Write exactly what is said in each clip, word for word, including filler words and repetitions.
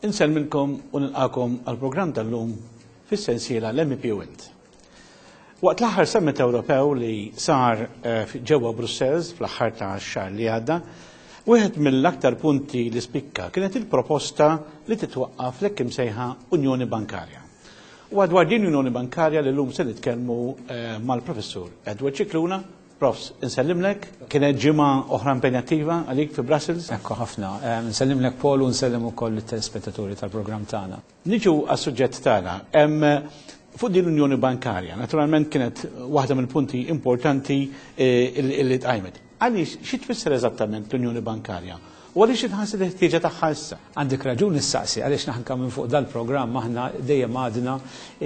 Insellmilkom u nilqagħkom għall-programm tal-lum fis-sensiela l-M E P u Int. Waqt l-aħħar Summit Ewropew li sar eh, ġewwa Brussels fl-aħħar ta' xahar li għadda, wieħed mill-aktar punti li spikka kienet il-proposta li titwaqqaf l-hekk imsejħa Unjoni Bankarja. U dwar din Unjoni Bankarja li llum se nitkellmu eh, mal-Professur Edward Scicluna. Profs, insellimlek, kienet ġimgħa oħra impenjattiva għalik fi Brussels? Ekku ħafna. Nsellimlek, Paul, u nsellem ukoll it-telespettaturi tal-programm tagħna. Niġu għas-suġġett tagħna. Fuq din l-Unjoni Bankarja, naturalment kienet waħda mill-punti importanti eh, illi tqajmet. Għaliex, xi tfisser eżattament l-Unjoni Bankarja? U għaliex inħasset il-ħtieġa tagħha issa? Għandek raġun issaqsi, għaliex naħnka minn fuq dal-programm aħna dejjem għadna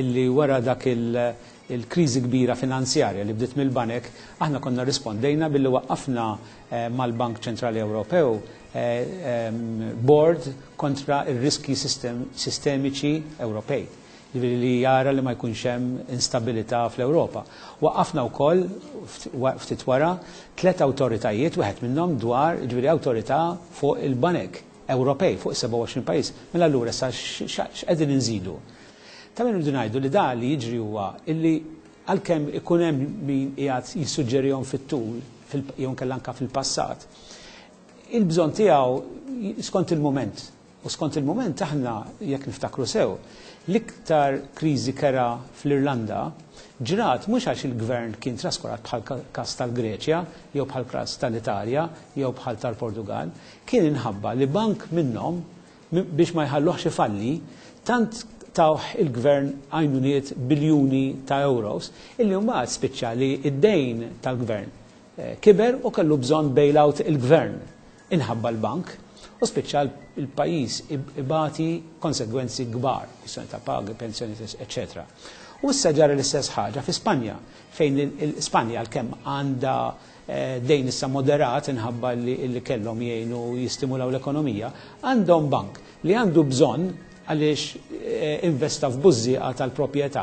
illi wara dak il- il-kriżi kbira finanzjarja li bdiet mill-banek, aħna konna rispondejna billi waqqafna eh, mal-Bank Ċentrali Ewropew eh, board kontra il-riski sistemiċi Ewropej, ġifieri li jara li ma jkunx hemm instabilità fl-Ewropa. Waqqafna wkoll ftit wara tliet awtoritajiet, wieħed minnhom dwar, ġifieri, awtorità fuq il-banek Ewropej fuq sebgħa u għoxrin pajjiż. Mela allura sa x'qegħdin inżidu? Ta' minn rridu ngħidu li da li jiġri huwa illi għalkemm ikun hemm min qiegħed jissuġġerihom fit-tul jew inkella anke fil-passat, il-bżonn tiegħu skont il-moment. U skont il-moment aħna, jekk niftakru sew, l-iktar kriżi kerha fl-Irlanda ġrat mhux għax il-gvern kien traskurat bħal każ tal-Greċja, jew bħal każ tal-Italja, jew bħal tal-Portugal, kien inħabba li bank minnhom, biex ma jħalluħx ifalli, tant tawh il-gvern għajnuniet biljuni ta' euros, illi mbagħad spiċċa li id-dejn tal-gvern eh, kiber u kellu bżonn bailout il-gvern inħabba l-bank u spiċċa il-pajjiż ibati konsegwenzi kbar, kwistjoni ta' pagi, pensjoni, eccetera. U issa ġara l-istess ħaġa fi Spanja, fejn il-Spanja għalkemm għandha eh, dejn issa moderat inħabba li kellhom jgħinu jistimulaw l-ekonomija, għandhom bank li għandu bżonn, għaliex eh, investa f'bużżieqa tal-proprjetà,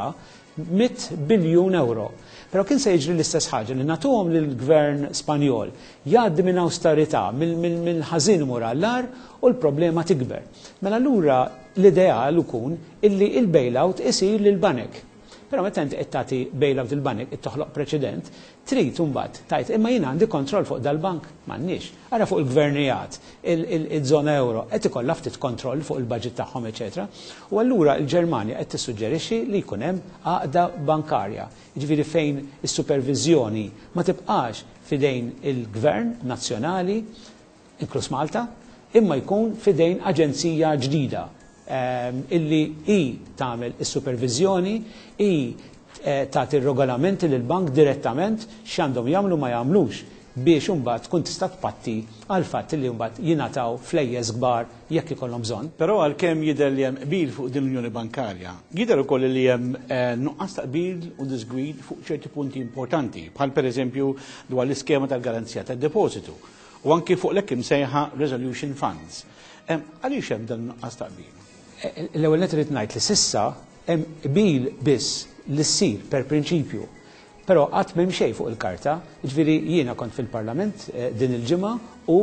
mitt biljun euro. Però kien se jiġri l-istess ħaġa li nagħtuhom lill-gvern Spanjol, jgħaddi minn austerità, mill-ħażin imur għall-agħar u l-problema tikber. Mela allura l-ideal ikun illi il-bailout isir lil banek. Però meta inti qed tagħti bailout il-banek, qed toħloq preċedent, trid imbagħad tgħid, "Imma jiena għandi kontroll fuq dal-bank?" M'għandniex. Ara fuq il-gvernijiet, il-żona euro qed ikollha ftit kontroll fuq il-budget tagħhom, eċetera. U allura l-Ġermanja qed tissuġġerixxi li jkun hemm għaqda bankarja. Jiġifieri fejn is-supervizjoni ma tibqax fidejn il-gvern nazzjonali, inkluż Malta, imma jkun fidejn aġenzija ġdida Ehm, illi i tagħmel is-supervizjoni, i eh, tagħti regolamenti lil bank direttament x'għandhom jagħmlu, ma jagħmlux, biex imbagħad tkun tista' tpatti għal fatt li mbagħad jingħataw flejjes kbar jekk ikollhom bżonn. Però għalkemm jidher li hemm qbil fuq din l-Unjoni Bankarja, jidher ukoll li hemm eh, nuqqas ta' qbil u disgwid fuq ċerti punti importanti, bħal pereżempju dwar l-iskema tal-garanzija tad-depositu u anki fuq l-hekk imsejħa Resolution Funds. Għaliex hemm dan nuqqas ta' qbil? L-ewwel nett irid ngħid li s'issa hemm qbil biss li ssir per prinċipju. Però qatt m'hemm xejn fuq il-karta, jiġifieri jiena kont fil-Parlament eh, din il-ġimgħa u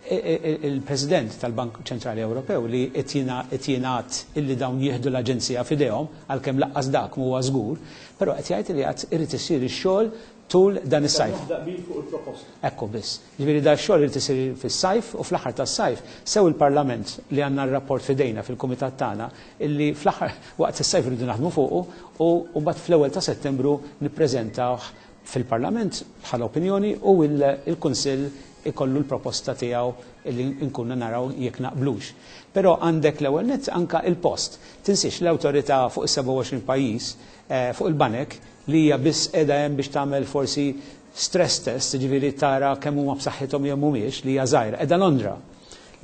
eh, eh, il-President tal-Bank Ċentrali Ewropew li qed jingħad illi dawn jieħdu l-aġenzija f'idejhom, għalkemm lanqas dak huwa żgur, però qed jgħid li għad irid isir ix-xogħol tul dan is-sajf. Ekku biss. Ġifieri da xogħol irid isir fis-sajf u fl-aħħar tas-sajf sew il-Parlament li għandna r-rapport f'idejna fil-kumitat tagħna illi fl-aħħar waqt is-sajf irridu naħdmu fuqu u mbagħad fl-ewwel ta' Settembru nippreżentawh fil-Parlament bħala opinjoni u il-Kunsill ikollu l-proposta tiegħu illi nkunna naraw jekk naqblux. Però għandek l-ewwel nett anka il-post. Tinsiex l-awtorità fuq is-sebgħa u għoxrin pajjiż eh, fuq il-banek li hija biss qiegħda hemm biex tagħmel forsi stress test, ġifieri tara kemm huma b'saħħithom jew mhumiex, li hija żgħira, qiegħda Londra.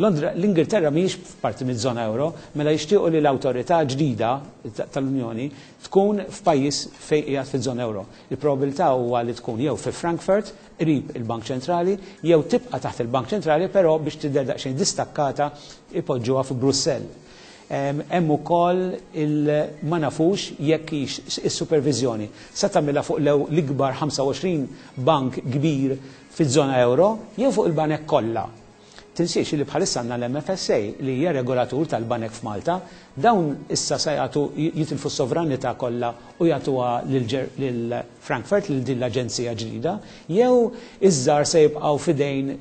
Londra, l-Ingilterra mhijiex parti miż-żona euro, mela jixtiequ li l-awtorità ġdida tal-Unjoni tkun f'pajjiż fejn qiegħed fiż-żona euro. Il-probabilità huwa li tkun jew fi Frankfurt, qrib il-Bank Ċentrali, jew tibqa' taħt il-Bank Ċentrali, però biex tidher daqsxejn distakkata ipoġġuha fi Brussell. Hemm ukoll il ma nafux jekk is-supervizjoni se tagħmilha fuq l-ikbar ħamsa u għoxrin bank kbir fiż-żona euro jew fuq il-banek kollha. Tinsiex li bħalissa għandna l-M F S A li hija regolatur tal-banek f'Malta, dawn issa se jagħtu, jitilfu s-sovranità kollha u jagħtuha lil Frankfurt, lil din l-aġenzija ġdida, jew iż-żgħar se jibqgħu f'idejn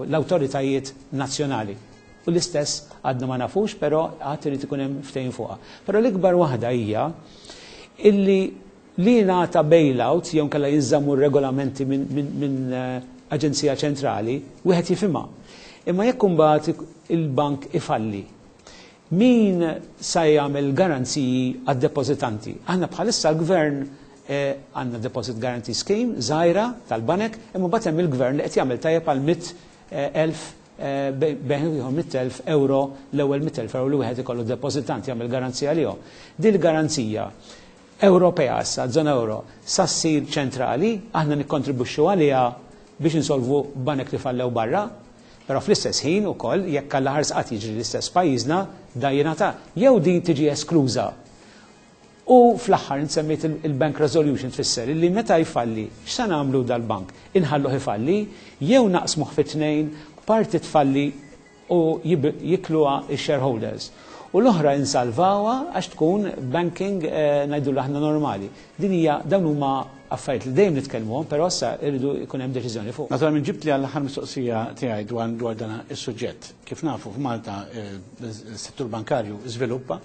l-awtoritajiet nazzjonali. U l-istess għadna ma nafux, però għad irid ikun hemm ftehim fuqha. Però l-ikbar waħda hija illi li ngħata bailout jew kellha jinżammu regolamenti minn min, min, aġenzija ċentrali, wieħed jifhimha. Imma jekk imbagħad il-bank ifalli, min sa jagħmel garanziji għad-depożitanti? Aħna bħalissa l-gvern eh, għandna deposit guarantee scheme żgħira tal-banek, imma mbagħad hemm il-gvern li qed jagħmel tajjeb għal mitt eh, elf eh, bejn mitt elf euro, l-ewwel mitt elf euro li wieħed ikollu depożitant jagħmel garanzija għalihom. Din il-garanzija Ewropea issa, żona euro, sa ssir ċentrali, aħna nikkontribwixxu għaliha biex insolvu banek li fallew barra, però fl-istess ħin ukoll jekk alla ħares qatt jiġri l-istess pajjiżna da jingħata jew din tiġi eskluża. U fl-aħħar nsemmejt il-bank resolution, tfisser li meta jfalli, x'sa nagħmlu dal-bank? Inħalluh ifalli jew naqsmuh fi tnejn, parti tfalli u jikluha x-shareholders. U l-oħra insalvawha għax tkun banking eh, ngħidu aħna normali. Din hija, dawn huma affarijiet li dejjem nitkellmuhom, però issa irridu jkun hemm deċiżjoni fuq. Naturalment ġibt li għall-aħħar mistoqsija tiegħi dwar dwar dan is-suġġett. Kif nafu, f'Malta eh, is-settur bankarju żviluppa.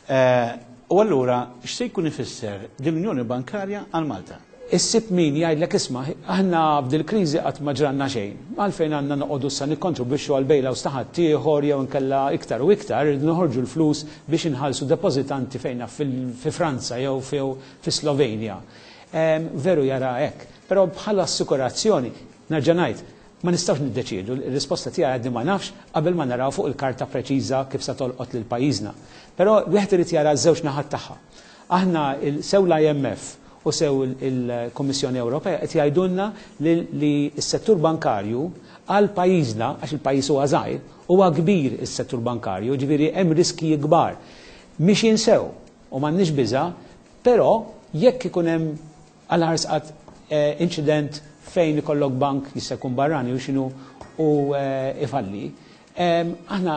Eh, u allura x'se jkun ifisser din l-Unjoni Bankarja għal Malta? Issib min jgħidlek, "Isma', aħna b'dil kriżi qatt ma ġranna xejn. Għalfejn għandna noqogħdu issa nikkontribwixxu għal bailouts ta' ħaddieħor jew inkella iktar u iktar irridu noħorġu l-flus biex inħallsu depożitanti fejna fi Franza jew fi Slovenja?" Veru jara hekk, però bħala assikurazzjoni, nerġa' ngħid, ma nistgħux niddeċiedu, il-risposta tiegħi għadni ma nafx qabel ma naraw fuq il-karta preċiża kif se tolqot lil pajjiżna. Però wieħed irid jara ż-żewġ naħat tagħha. Aħna sew l-I M F u sew il-Kommissjoni Ewropea qed jgħidulna li s-settur bankarju għal pajjiżna, għax il-pajjiż huwa żgħir, huwa kbir is-settur bankarju, ġifieri hemm riski kbar. Mhix jinsew u m'għandniex biża', però jekk ikun hemm għal ħarsqat eh, incident fejn ikollok bank jista' jkun barrani u x'inhu u eh, ifalli, aħna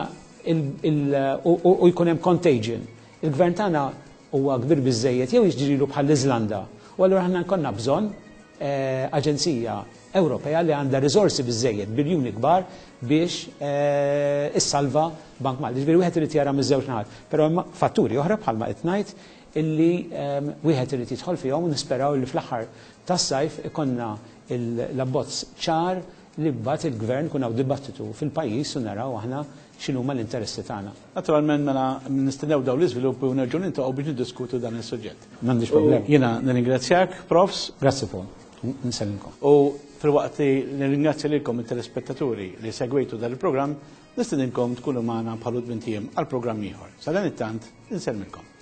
u jkun hemm contagion. Il-gvern tagħna huwa kbir biżejjed jew jiġrilu bħall-Iżlanda? U allura aħna nkollna bżonn eh, aġenzija Ewropea li għandha riżorsi biżejjed, biljuni kbar, biex eh, issalva Bank Malti. Ġifieri wieħed irid jara miż-żewġ naħat. Però hemm fatturi oħra bħalma qed ngħid illi ehm, wieħed irid jidħol fihom u nisperaw li fl-aħħar tas-sajf ikonna l-abbozz ċar li mbagħad il-gvern kun hawn dibattitu fil-pajjiż u naraw aħna x'inhuma l-interessi tagħna. Naturalment mela nistennew dawn l-iżviluppi u nerġgħu niltaqgħu biex niddiskutu dan is-suġġett. M'għandix problem. Jiena nirringrazzjak, Profs. Grazzi, Paul. Nsellimkom. U filwaqt li nirringrazzja lilkom it-telespettaturi li segwejtu dan il-programm, nistedinkom tkunu magħna bħal tmint ijiem għal programm ieħor. Sadanittant, insellmilkom.